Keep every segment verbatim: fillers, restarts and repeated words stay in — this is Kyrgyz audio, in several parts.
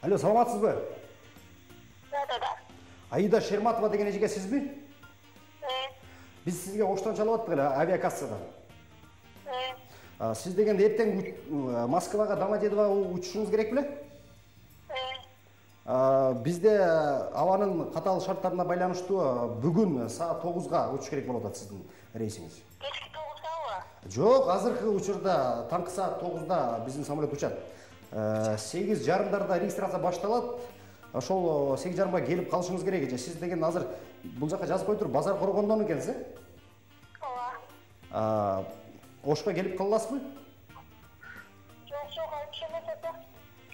Алло, саламатсызбы? Да, да. Аида Шерматова деген эжеге сизби? Биз сизге оштон чалып аттык эле авиакассадан. Сиз деген эртең Москвага Домодедово учушуңуз керек беле? Бизде абанын катаал шарттарына байланыштуу бүгүн саат тогузга учуш керек болуп атат сиздин рейсиңиз. Кечки тогузгабы? Жок, азыркы учурда таңкы саат тогузда биздин самолет учат. сегиз жарымдарда регистрация башталат. Ошол сегиз жарымга келип калышыңыз керек эже. Сиз деген азыр бул жака жазып кой туруп, базар коргондон экенсиз, э? Ооба. Ошко келип кала аласызбы? Жок, жок, алып келет да.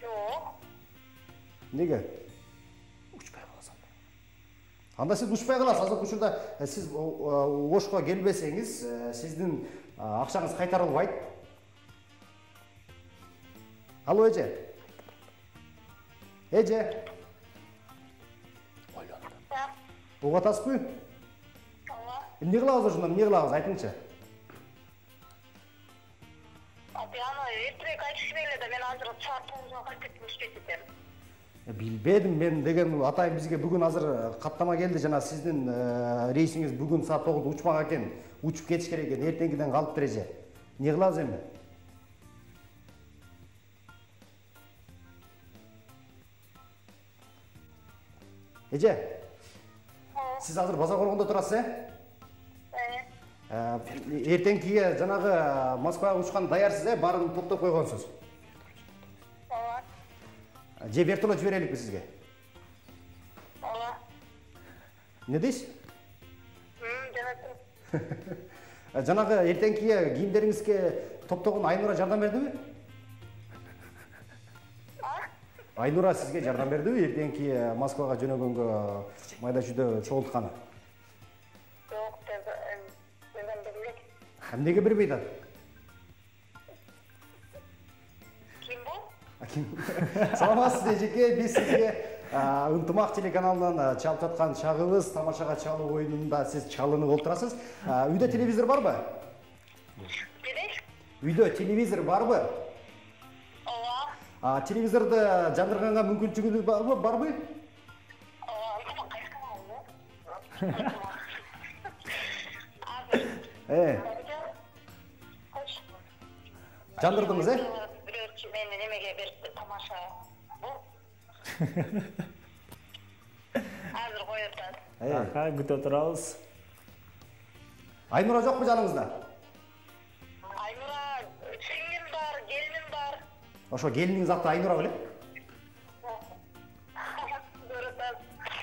Жок. Неге? Учпай каласың. Анда сиз учпай каласыз. Азыркы учурда сиз Ошко келбесеңиз, сиздин акчаңыз кайтарылбайт. Алло, эже. Эже. Угуп атасызбы? Ооба. Эмне кылабыз ошондо? Эмне кылабыз? Айтыңчы. Аны эртерээк айтыш керек эле да, мен азыр саат тогузга кайтып иштеп кетем. Билбедим мен деген атайын бизге бүгүн азыр каттама келди, жана сиздин рейсиңиз бүгүн саат тогузда учмак экен. Учуп кетиш керек экен, эртеңгиден калыптыр эже. Эмне кылабыз эми? Эже. Сиз азыр базар коргондо турасыз, э? Эртеңкиге жанагы Москвага учкан даярсыз, э? Баарын топтоп койгонсуз. Ооба. Же вертолет жибереликпи сизге? Ооба. Эмне дейсиз? Мм, жанагы. Жанагы эртеңкиге кийимдериңизге топтогон Айнура жардам бердиби? Айнура сизге жардам бердиби эртеңки Москвага жөнөгөнгө майда чүйдө чогултканы? Жок, жардам бербейт. Эмнеге бербейт ал? Ким бул? Ким? Саламатсыз эжеке, биз сизге Ынтымак телеканалынан чалып жаткан чагыбыз тамашага чалуу оюнунда сиз чалынып отурасыз. Үйдө телевизор барбы? Эмне? Үйдө телевизор барбы? Ооба. Телевизорду жандырганга мүмкүнчүлүгү барбы? Барбы? Ооба, кайсы канал? Э. Жандырдыңыз, э? Бирөөчү мени немеге берип тамаша. Азыр коюп атат. Аха, күтүп турабыз. Айнура жокпу жаныңызда? Айнура, сиңлим бар, келиним бар. Ошо келиниңиз аты Айнура беле?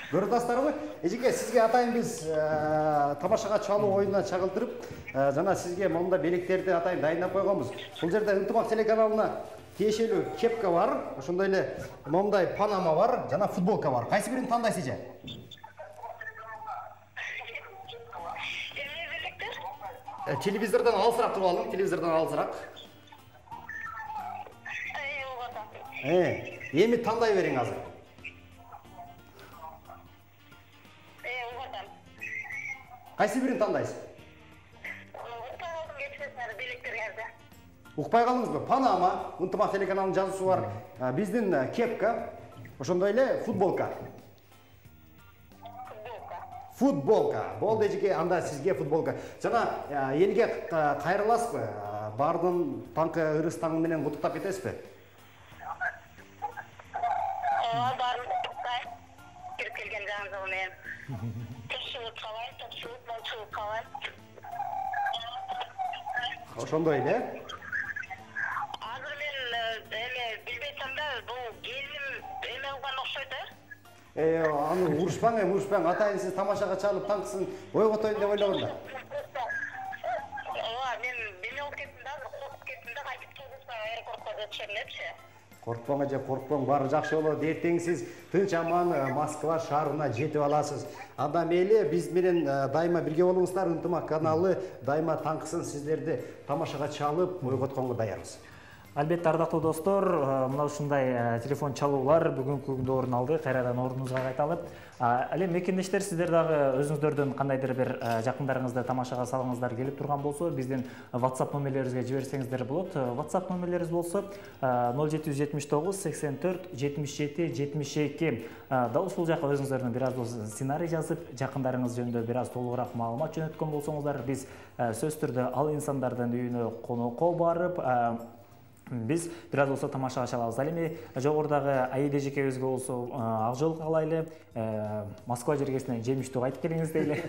Көрүп атасыздарбы? Эжеке, сизге атайын биз тамашага чалуу оюнуна чагылдырып, жана сизге монда белектерди атайын дайындап койгонбуз. Бул жерде Ынтымак телеканалына тиешелүү кепка бар, ошондой эле мондай панама бар, жана футболка бар. Кайсы бирин тандайсыз эже? Эмне белектер? Телевизордон алысыраак туруп алың, телевизордон алысыраак. Эй, ооба. Э, эми тандай бериң азыр. Эй, ооба. Кайсы бирин тандайсыз? Укпай калдым кетсеңер белектериңерди. Укпай калдыңызбы? Панама, Ынтымак телеканалынын жазуусу бар. Биздин кепка, ошондой эле футболка. Футболка. Футболка. Болду эжеке, анда сизге футболка. Жана элге кайрыласызбы? Бардын таңкы ырыс таңы менен куттуктап кетесизби? Ооба, баарын куттуктайм. Кирип келген жаңызы менен. Топчулук калайм, топчулук, молчулук калайм. Ошондой эле. Азыр мен эме билбесем да, бул келиним эме кылган окшойт, э? Э, аны урушпаң, эми урушпаң. Атайын сиз тамашага чалып таңкысын ойготоюн деп ойлогон да. Ооба, мен неме болуп кеттим да, коркуп кеттим да, кайтып келсем аэропортко жетишем депчи. Коркпоң эже, коркпоң, баары жакшы болот. Эртең сиз тынч аман Москва шаарына жетип аласыз. Анда мейли биз менен дайыма бирге болуңуздар. Ынтымак каналы дайыма таңкысын сиздерди тамашага чалып ойготконго даярбыз. Албетте, ардактуу достор, мына ушундай телефон чалуулар бүгүнкү күндө орун алды. Кайрадан ордуңузга кайталып. Ал эми мекендештер, сиздер дагы өзүңүздөрдөн кандайдыр бир жакындарыңызды тамашага салгыңыздар келип турган болсо, биздин WhatsApp номерлерибизге жиберсеңиздер болот. WhatsApp номерлерибиз болсо ноль жети жүз жетимиш тогуз сексен төрт жетимиш жети жетимиш эки. Дал ушул жака өзүңүздөрдүн бир аз болсо сценарий жазып, жакындарыңыз жөнүндө бир аз толугураак маалымат жөнөткөн болсоңуздар, биз сөзсүз түрдө ал инсандардын үйүнө конокко барып, биз бир аз болсо тамашага чалабыз. Ал эми жогорудагы Аида эжекебизге болсо ак жол каалайлы, Москва жергесинен жемиштүү кайтып келиңиз дейли.